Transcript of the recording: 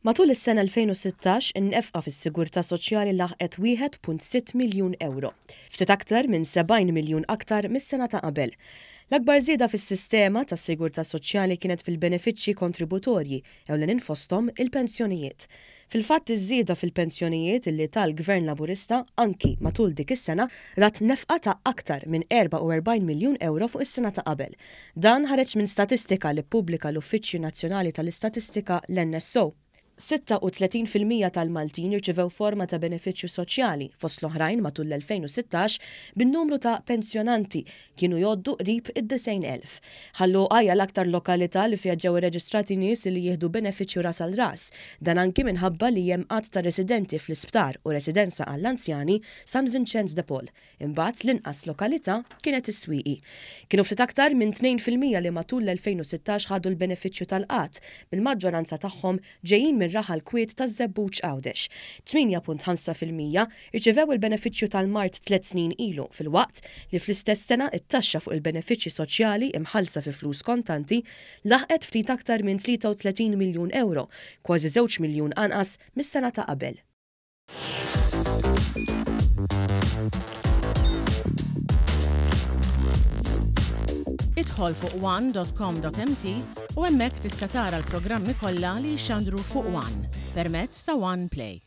Matul is-sena 2016, in-nefqa fis-sigurtà soċjali laħqet 1.6 miljun ewro, ftit aktar minn 70 miljun aktar mis-sena ta' qabel. L-akbar żieda fis-sistema tas-sigurtà soċjali kienet fil-benefiċċji kontributorji, ewlenin fosthom il-pensjonijiet. Fil-fatt iż-żieda fil-pensjonijiet illi ta l-Gvern Laburista anki matul dik is-sena rat nefqa ta' aktar minn 44 miljun ewro fuq is-sena ta' qabel. Dan ħareġ minn statistika li ppubblika l-Uffiċċju Nazzjonali tal-Istatistika, l-NSO. 36% tal-Maltin irċivew forma ta' benefiċċju soċjali, fost l-oħrajn matul l-2016, bin-numru ta' pensjonanti kienu jgħoddu qrib id-90,000. Ħal Luqa hija l-aktar lokalità li fiha ġew irreġistrati nies li jieħdu benefiċċju ras għal ras. Dan anki minħabba li hemm għadd ta' residenti fl-isptar u residenza għall-anzjani San Vinċenz de Paul. Imbagħad l-inqas lokalità kienet is-Swieqi. Kienu ftit aktar minn 2% li matul l-2016 ħadu l-benefiċċju tal-qgħad, bil-maġġoranza tagħhom ġejjin mir-raħal kwiet taż-Żebbuġ Għawdex. 8.5% rċivew il-benefiċċju tal-mard tliet snin ilu filwaqt li fl-istess sena t-taxxa fuq il-benefiċċji soċjali imħallsa fi flus kontanti laħqet ftit aktar minn 33 miljun ewro, kważi żewġ miljun anqas mis-sena ta' qabel. Idħol fuq one.com.mt u hemmhekk tista' tara l-programmi kollha li jixxandru fuq One permezz ta' One Play.